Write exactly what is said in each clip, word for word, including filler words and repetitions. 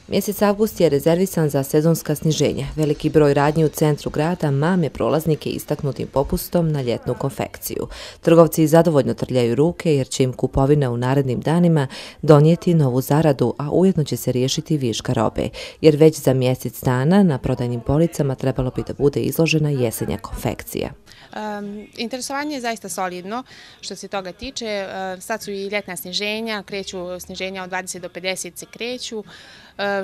Mjesec avgust je rezervisan za sezonska sniženja. Veliki broj radnji u centru grada mame prolaznike istaknutim popustom na ljetnu konfekciju. Trgovci zadovoljno trljaju ruke jer će im kupovina u narednim danima donijeti novu zaradu, a ujedno će se riješiti viška robe, jer već za mjesec dana na prodajnim policama trebalo bi da bude izložena jesenja konfekcija. Um, interesovanje je zaista solidno što se toga tiče. Uh, sad su i ljetna sniženja, kreću sniženja od dvadeset do pedeset se kreću. Uh,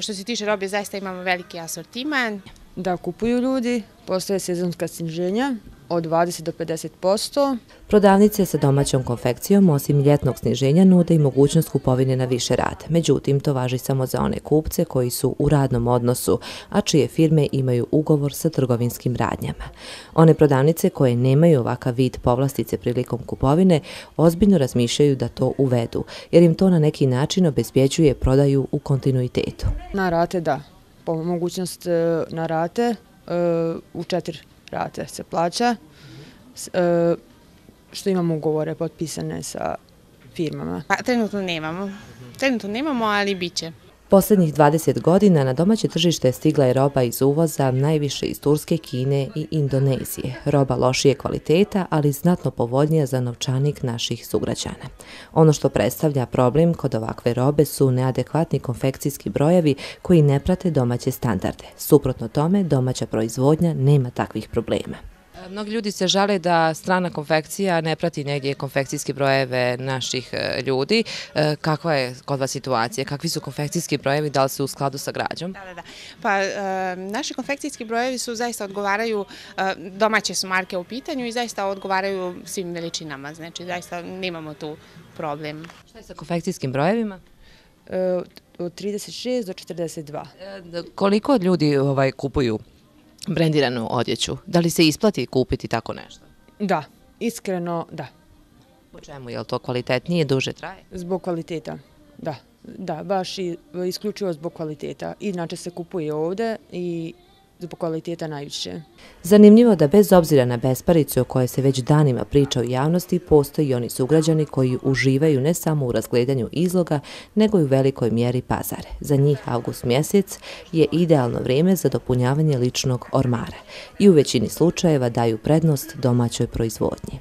što se tiče robe, zaista imamo veliki asortiman. Da kupuju ljudi, postoje sezonska sniženja od dvadeset do pedeset posto. Prodavnice sa domaćom konfekcijom osim ljetnog sniženja nude i mogućnost kupovine na više rata. Međutim, to važi samo za one kupce koji su u radnom odnosu, a čije firme imaju ugovor sa trgovinskim radnjama. One prodavnice koje nemaju ovakav vid povlastice prilikom kupovine ozbiljno razmišljaju da to uvedu, jer im to na neki način obezbjeđuje prodaju u kontinuitetu. Na rate da, po mogućnost na rate u četiri rate se plaća, što imamo ugovore potpisane sa firmama. Pa, trenutno nemamo. Trenutno nemamo, ali bit će. Posljednjih dvadeset godina na domaće tržište stigla je roba iz uvoza, najviše iz Turske, Kine i Indonezije. Roba lošije kvaliteta, ali znatno povoljnija za novčanik naših sugrađana. Ono što predstavlja problem kod ovakve robe su neadekvatni konfekcijski brojevi koji ne prate domaće standarde. Suprotno tome, domaća proizvodnja nema takvih problema. Mnogi ljudi se žale da strana konfekcija ne prati negdje konfekcijske brojeve naših ljudi. Kakva je kod vas situacija? Kakvi su konfekcijski brojevi? Da li su u skladu sa građom? Da, da, da. Pa, e, naši konfekcijski brojevi su zaista odgovaraju, e, domaće su marke u pitanju i zaista odgovaraju svim veličinama. Znači, zaista nemamo tu problem. Šta je sa konfekcijskim brojevima? E, od trideset šest do četrdeset dva. E, koliko ljudi ovaj, kupuju brendiranu odjeću? Da li se isplati kupiti tako nešto? Da, iskreno da. Po čemu? Je li to kvalitetnije, duže traje? Zbog kvaliteta, da. Da, baš i, isključivo zbog kvaliteta. Inače se kupuje ovdje i zbog kvaliteta najviše. Zanimljivo da bez obzira na besparicu o kojoj se već danima priča u javnosti, postoji i oni sugrađani koji uživaju ne samo u razgledanju izloga, nego i u velikoj mjeri pazare. Za njih avgust mjesec je idealno vrijeme za dopunjavanje ličnog ormara i u većini slučajeva daju prednost domaćoj proizvodnji.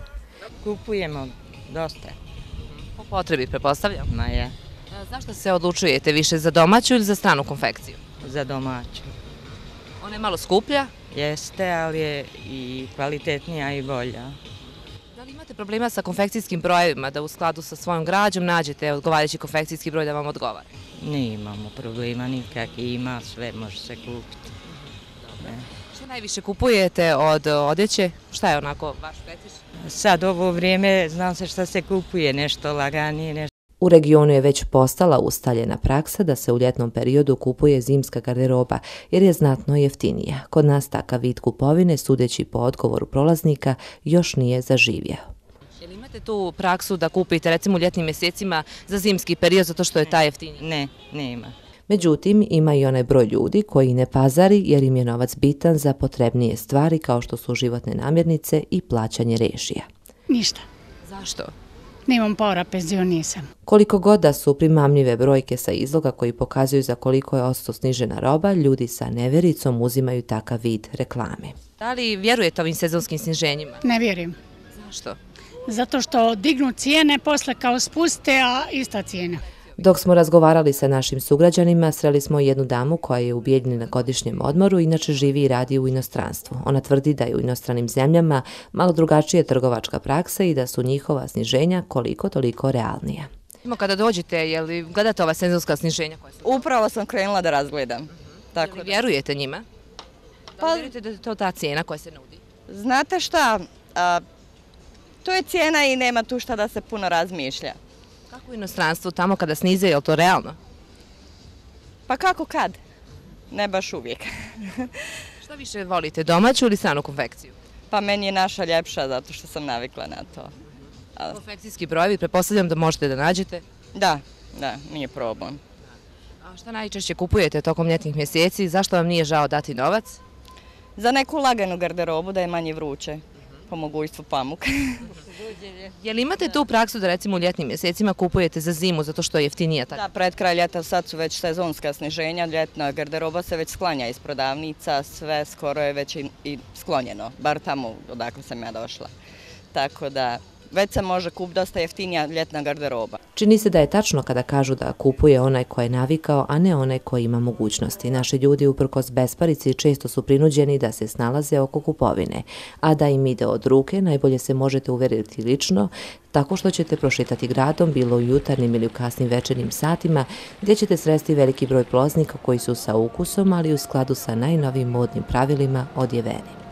Kupujemo dosta. Po potrebi, prepostavljam? Ma je. Zašto se odlučujete više za domaću ili za stranu konfekciju? Za domaću. Ona je malo skuplja? Jeste, ali je i kvalitetnija i bolja. Da li imate problema sa konfekcijskim brojevima, da u skladu sa svojom građom nađete odgovarajući konfekcijski broj da vam odgovara? Ne imamo problema nikakvi, ima sve, može se kupiti. Što najviše kupujete od odjeće? Šta je onako vaš fetiš? Sad ovo vrijeme znam se šta se kupuje, nešto laganije, nešto. U regionu je već postala ustaljena praksa da se u ljetnom periodu kupuje zimska garderoba jer je znatno jeftinija. Kod nas takav vid kupovine, sudeći po odgovoru prolaznika, još nije zaživjeo. Jel imate tu praksu da kupite recimo u ljetnim mjesecima za zimski period zato što je taj jeftiniji? Ne, nema. Međutim, ima i onaj broj ljudi koji ne pazari jer im je novac bitan za potrebnije stvari kao što su životne namirnice i plaćanje režija. Ništa. Zašto? Nemam para, penzio nisam. Koliko god da su primamljive brojke sa izloga koji pokazuju za koliko je odsto snižena roba, ljudi sa nevericom uzimaju takav vid reklame. Da li vjerujete ovim sezonskim sniženjima? Ne vjerujem. Zašto? Zato što dignu cijene, posle kao spuste, a ista cijena. Dok smo razgovarali sa našim sugrađanima, sreli smo jednu damu koja je u Bijeljini na godišnjem odmoru, inače živi i radi u inostranstvu. Ona tvrdi da je u inostranim zemljama malo drugačija trgovačka praksa i da su njihova sniženja koliko toliko realnija. Kada dođete, je li gledate ova sezonska sniženja? Upravo sam krenula da razgledam. Tako da vjerujete njima? Da li vjerujete da je to ta cijena koja se nudi? Znate šta, a, to je cijena i nema tu šta da se puno razmišlja. Kako u inostranstvu tamo kada snize, je li to realno? Pa kako kad? Ne baš uvijek. Šta više volite, domaću ili stranu konfekciju? Pa meni je naša ljepša zato što sam navikla na to. Konfekcijski brojevi, prepostavljam da možete da nađete? Da, da, nije problem. A šta najčešće kupujete tokom ljetnih mjeseci? Zašto vam nije žao dati novac? Za neku laganu garderobu da je manje vruće. po mogućstvu pamuk. Je li imate tu praksu da recimo u ljetnim mjesecima kupujete za zimu zato što je jeftinija tako? Da, pred kraj ljeta sad su već sezonska sniženja, ljetna garderoba se već sklanja iz prodavnica, sve skoro je već i, i sklonjeno, bar tamo odakle sam ja došla. Tako da već se može kupiti dosta jeftinija ljetna garderoba. Čini se da je tačno kada kažu da kupuje onaj ko je navikao, a ne onaj ko ima mogućnosti. Naši ljudi uprkos besparici često su prinuđeni da se snalaze oko kupovine, a da im ide od ruke najbolje se možete uveriti lično tako što ćete prošetati gradom bilo u jutarnjim ili u kasnim večernjim satima gdje ćete sresti veliki broj prolaznika koji su sa ukusom, ali u skladu sa najnovijim modnim pravilima odjeveni.